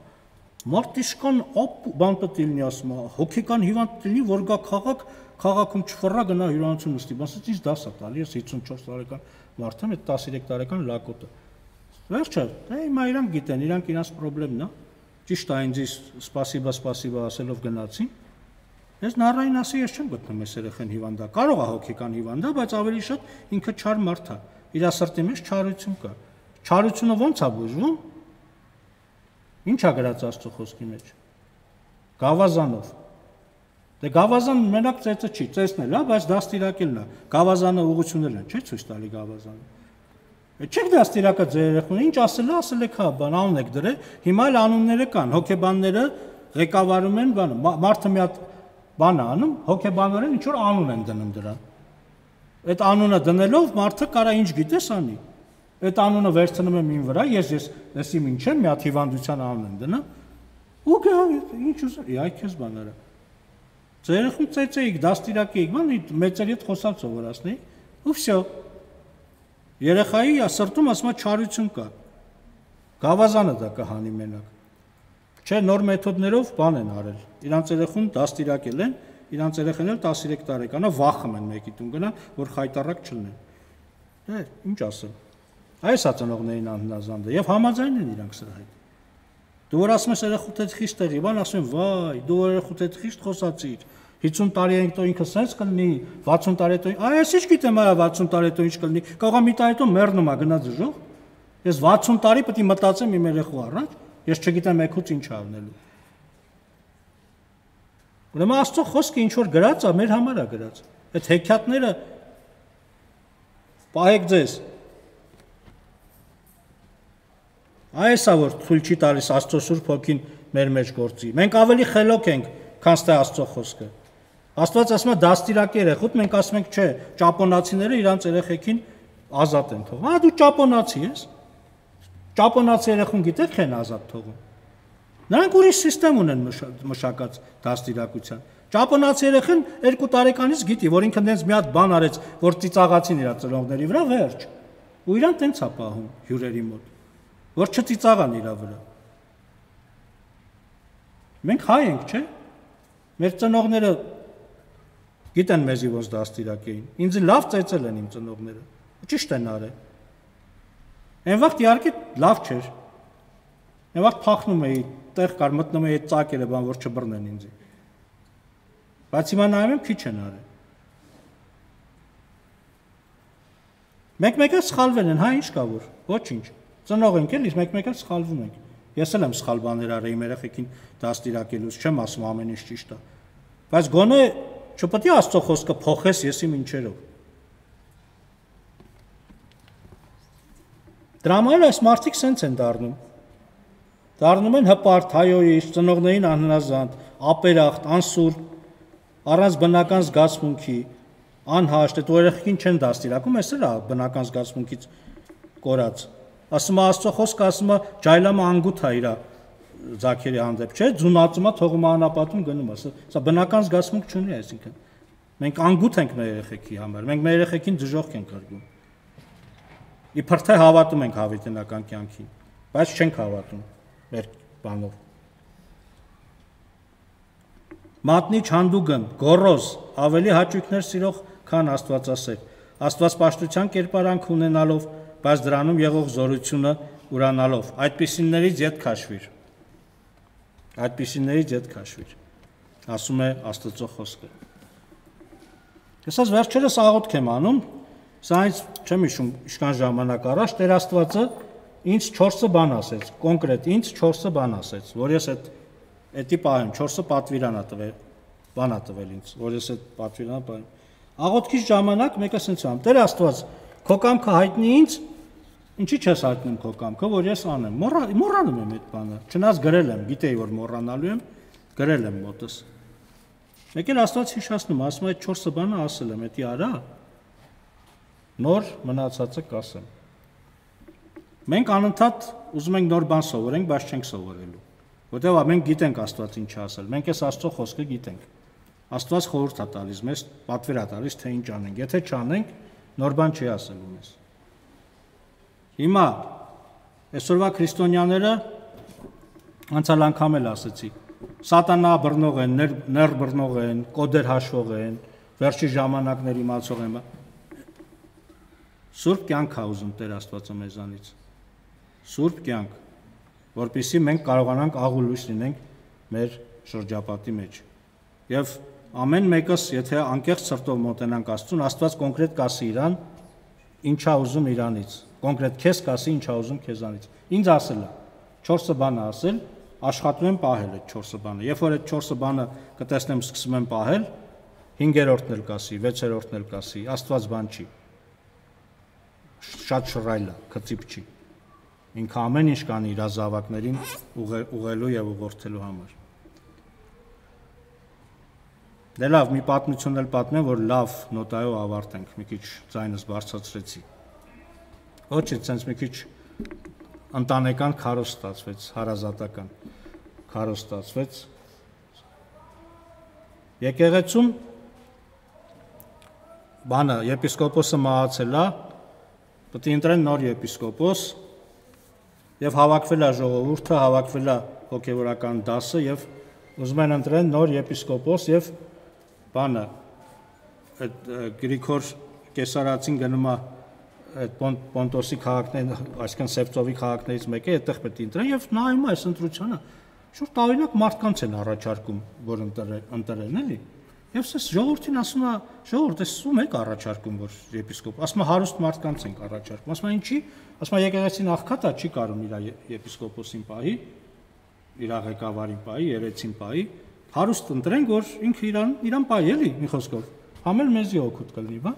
Մարտիշկան բան պետք է լինի, ասում է, հոգեկան հիվանդ լինի, որ գա խաղաք, քաղաքում չֆռա գնա հյուրանոցում նստի, ասեց ինձ դաս է տալի, ես հիսունչորս տարեկան մարդ եմ, այդ տասներեք տարեկան լակոտը։ Վերջը, դե հիմա իրանք գիտեն, իրանք իրանց պրոբլեմն է։ Ճիշտ է, ինձ սպասիբա, սպասիբա ասելով գնացին։ Ես նառային ասի, ես չեմ գտնում այս երեխան հիվանդա, կարող է հոգեկան հիվանդա, բայց ավելի շատ ինքը չար մարդ է։ Իր սրտի մեջ չարություն կա։ Չարությունը ո՞նց է բուժվում։ Ինչ է գրած Աստծո խոսքի մեջ։ Գավազանով։ Դե գավազան մենակ ծեծը չի, ծեծն էլ է, բայց դաստիարակելն է։ Գավազանը ուղղություններն են, չէ՞ ցույց տալի գավազանը։ Չեք դաստիարակա ձեր երեխուն, ինչ ասել է, ասել եք հա, բան անուն եք դրել, հիմա էլ անունները կան, հոգեբանները ղեկավարում են, բան, մարդը մի հատ բան է անում, հոգեբանորեն ինչ որ անուն են դնում դրան։ Այդ անունը դնելով մարդը կարա ինչ գիտես անի։ Այդ անունը վերցնում եմ ին վրա, ես ես լսի ինչ եմ, մի հատ հիվանդության անուն եմ դնում։ Ու գա ինչ ուզի, այ քեզ բան արա։ Ձեր երեխուն ծեծեիք, դաստիարակեիք, բան մեծերի հետ խոսալ սովորացնեի, ու վсё։ Երեխայի սրտում ասում է չարություն կա։ Գավազանը դա կհանի մենակ։ Չէ, նոր մեթոդներով բան են արել։ Իրանց երեխուն դաստիարակել են, իրանց երեխան էլ տասներեք տարեկան է, վախում են մեկի տուն գնան, որ խայտարակ չլինեն։ Դե, ինչ ասեմ։ Այս է ծնողներին անհնազանդը եւ համաձայն են իրանք սրա հետ։ Դու որ ասում ես երեխուդ հետ խիստ եղի, բան ասում են, վայ, դու երեխուդ հետ խիստ խոսացիր։ հիսուն տարի ենք տո ինքը սենց կլինի, վաթսուն տարի հետո, այ ես ինչ գիտեմ, այ վաթսուն տարի հետո ինչ կլինի, կարող է մի տարի հետո մեռնում է գնա դժոխ։ Ես վաթսուն տարի պետք է մտածեմ իմ երեխու առաջ, ես չգիտեմ եկուց ինչ առնելու։ Ուրեմն Աստծո խոսքը ինչ որ գրած է, մեր համար է գրած։ Այդ հեքիաթները պահեք ձեզ։ Այս է որ թույլ չի տալիս Աստծո Սուրբ Հոգին մեր մեջ գործի։ Մենք ավելի խելոք ենք, քան թե Աստծո խոսքը։ Աստված ասում է դաստիարակի երեխուդ, մենք ասում ենք չէ, ճապոնացիները իրանց երեխեքին ազատ են թողում։ Հա դու ճապոնացի ես։ Ճապոնացի երեխուն գիտեք քեն ազատ թողում։ Նրանք ուրիշ համակարգ ունեն մշակած դաստիարակության։ Ճապոնացի երեխան երկու տարեկանից գիտի, որ ինքը դենց մի հատ բան արեց, որ ծիծաղացին իր ծնողների վրա, վերջ։ Ու իրան տենց է պահում հյուրերի մոտ, որ չծիծաղան իր վրա։ Մենք հայ ենք, չէ՞։ Մեր ծնողները գիտեն մեզի ոնց դաստիարակեին։ Ինձ լավ ծեծել են իմ ծնողները։ Ճիշտ են արել։ Այն վաղ իհարկե լավ չէր։ Այն վաղ փախնում էի, տեղ կար մտնում էի այդ ծակերը, բան որ չբռնեն ինձ։ Բայց հիմա նայում եմ քիչ են արել։ Մեկ-մեկը սխալվել են, հա ինչ կա որ։ Ոչինչ։ Ծնող ենք էլի, մեկ-մեկը սխալվում ենք։ Ես էլ եմ սխալ բաներ արել իմ երեխեքին դաստիարակելուց, չեմ ասում ամեն ինչ ճիշտ է։ Բայց գոնե չպետք է Աստծո խոսքը փոխես եսի ինչերով։ Դրամայել այս մարդիկ սենց են դառնում։ Դառնում են հպարտ, հայոյիչ, ծնողներին անհնազանդ, ապերախտ, անսուրբ, առանց բնական զգացմունքի, անհաշտ, այդ երեխեքին չեն դաստիարակում, էս էլ է բնական զգացմունքից կորած։ Ասում է Աստծո խոսքը, ասում է ջայլամը անգութ է իր ձագերի հանդեպ, չէ՞, ձունածումա թողում անապատում գնում է, սա բնական զգացմունք չունի, այսինքն մենք անգութ ենք մեր երեխեքի համար, մենք մեր երեխեքին դժոխք ենք կրում։ Իբր թե հավատում ենք հավիտենական կյանքին, բայց չենք հավատում մեր բանով։ Մատնիչ հանդուգն, գոռոզ, ավելի հաճույքներ սիրող, քան Աստվածասեր, Աստվածպաշտության կերպարանք ունենալով, բայց դրանում եղող զորությունը ուրանալով, այդպիսիներից ետ քաշվիր։ Այդպիսիներից ետ քաշվիր, ասում է Աստծո խոսքը։ Ես այս վերջերս աղոթք եմ անում, սա ինձ չեմ հիշում ինչքան ժամանակ առաջ Տեր Աստվածը ինձ չորսը բան ասեց, կոնկրետ ինձ չորսը բան ասեց, որ ես այդ Էդի պահեմ, չորսը պատվիրանա տվել, բանա տվել ինձ, որ ես այդ պատվիրանա պահեմ։ Աղոթքից ժամանակ մեկը ասենց ամ, Տեր Աստված, քո կամքը հայտնի ինձ, ինչի չես հայտնում քո կամքը, որ ես անեմ։ Մոռանում եմ այդ բանը, չնայած գրել եմ, գիտեի, որ մոռանալու եմ, գրել եմ մոտս։ Մեկ էլ Աստված հիշացնում, ասում այդ չորսը բանը ասել եմ, էդի արա, նոր մնացածը կասեմ։ Մենք անընդհատ ուզում ենք նոր բան սովորենք, բայց չենք սովորելու։ Որտեղ մենք գիտենք Աստված ինչ ասել, մենք այս Աստծո խոսքը գիտենք։ Աստված խորհուրդ է տալիս մեզ, պատվեր է տալիս, թե ինչ անենք։ Եթե չանենք, նոր բան չի ասելու մեզ։ Հիմա այսօրվա քրիստոնյաները անցյալ անգամ էլ ասեցի, սատանա բռնող են, ներ բռնող են, կոդեր հաշվող են, վերջի ժամանակներ իմացող են։ Սուրբ կյանք է ուզում Տեր Աստվածը մեզանից։ Սուրբ կյանք, որպեսզի մենք կարողանանք աղու լույս լինենք մեր շրջապատի մեջ։ Եվ ամեն մեկս, եթե անկեղծ սրտով մոտենանք Աստծուն, Աստված կոնկրետ կասի իրան, ինչա ուզում իրանից, կոնկրետ քեզ կասի, ինչա ուզում քեզանից։ Ինձ ասել է, չորսը բանը ասել, աշխատում եմ պահել այդ չորսը բանը։ Երբ որ այդ չորսը բանը կտեսնեմ, սկսում եմ պահել, հինգերորդն էլ կասի, վեցերորդն էլ կասի, Աստված բան չի։ Շատ շռայլ է, քծիպ չի։ Ինքը ամեն ինչ կանի իր զավակներին ուղղելու եւ ուղղորդելու համար։ Դե լավ, մի պատմություն էլ պատմեմ, որ լավ նոտայով ավարտենք, մի քիչ ձայնս բարձրացրեցի։ Ոչ է, ցենց մի քիչ ընտանեկան քարոզ ստացվեց, հարազատական քարոզ ստացվեց։ Եկեղեցում բանը եպիսկոպոսը մահացել է, պետք է ընտրեն նոր եպիսկոպոս։ Եվ հավաքվել է ժողովուրդը, հավաքվել է հոգևորական դասը եւ ուզում են ընտրեն նոր եպիսկոպոս եւ բանը այդ Գրիգոր Կեսարացին գնում է այդ Պոնտոսի քաղաքներին, այսինքն Սևծովի քաղաքներից մեկը, այդտեղ պետք է ընտրեն եւ նայում է այս ընտրությանը։ Շուտ տարօրինակ մարդկանց են առաջարկում, որ ընտրեն, էլի։ Եվ ես ժողովրդին ասում եմ, ժողովուրդ, ես ում եք առաջարկում, որ եպիսկոպ, ասում եմ հարուստ մարդկանց ենք առաջարկում, ասում եմ ինչի, ասում եմ եկեղեցին աղքատա չի կարող իր եպիսկոպոսին պահի, իր ղեկավարին պահի, երեցին պահի, հարուստ ընտրենք, որ ինքը իրան իրան պահի, էլի, մի խոսքով, համել մեզի օգուտ կլինի, բա։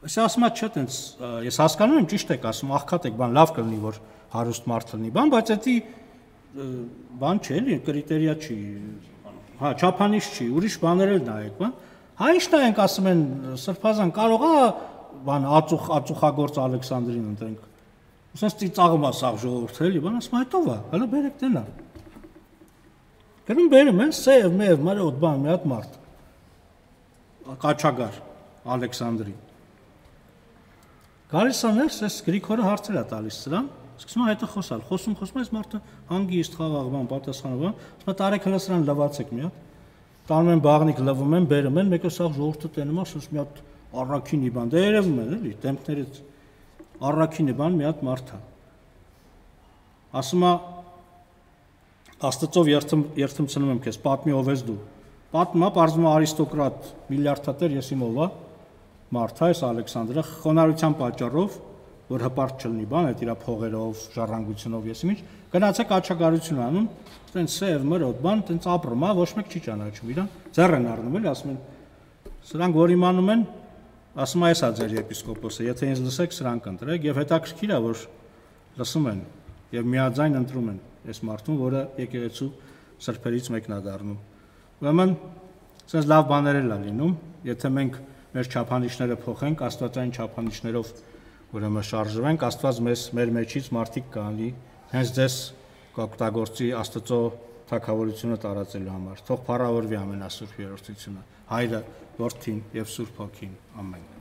Ես ասում եմ, չէ, տենց ես հասկանում եմ, ճիշտ եք ասում, աղքատ եք, բան լավ կլինի, որ հարուստ մարդ լինի, բան, բայց դա բան չէ, էլի, կրիտերիա չի, հա, չափանիշ չի, ուրիշ բաներ էլ նայեք, բան։ Հա ինչ նայենք, ասում են, Սրբազան կարող է բան ածուխ ածուխագործ Ալեքսանդրին ընտրենք։ Ոսենց ծիծաղում է սաղ ժողովուրդը, էլի, բան, ասում այդով է, հələ բերեք դենա։ Գնում բերում են սև, մեև, մարոտ, բան, մի հատ մարդ։ Կաչագար Ալեքսանդրի։ Գալիս է ներս, այս Գրիգորը հարցեր է տալիս սրան, սկսում է հետը խոսալ, խոսում, խոսում, այս մարդը հանգիստ խաղաղ բան, պատասխանում բան, ասում է տարեք հələ սրան լվացեք մի հատ։ Տանում են բաղնիկ, լվում են, բերում են, մեկը սաղ ժողովուրդը տենում է, ասում մի հատ առաքինի բան, դե երևում են, էլի, դեմքներից առաքինի բան մի հատ մարդ է։ Ասում է Աստծով երթմցնում եմ քեզ, պատմի ով ես դու։ Պատմում է, պարզվում է արիստոկրատ, միլիարդատեր, ես իմ ով է, մարդ է, այս Ալեքսանդրը, խոնարհության պատճառով, որ հպարտ չլինի բան, այդ իր փողերով, ժառանգությունով, ես ինչ, գնացեք աչագարություն անում, տենց սև, մրոտ, բան, տենց ապրում է, ոչ մեկ չի ճանաչում իրան, ձեռ են առնում, էլի, ասում են, սրանք որ իմանում են, ասում է, էսա ձեր եպիսկոպոսը, եթե ինձ լսեք, սրանք ընտրեք, եւ հետաքրքիր է, որ լսում են եւ միաձայն ընտրում են այս մարդուն, որը եկեղեցու սրբերից մեկն է դառնում։ Ուրեմն Սենց լավ բաներ էլ է լինում, եթե մենք մեր չափանիշները փոխենք, աստվածային չափանիշներով ուրեմն շարժվենք, Աստված մեզ մեր մեջից մարդիկ կանի, հենց ձեզ կօգտագործի Աստծո թագավորությունը տարածելու համար։ Թող փառավորվի ամենասուրբ երրորդությունը, Հայրը, Որդին եւ Սուրբ Հոգին։ Ամեն։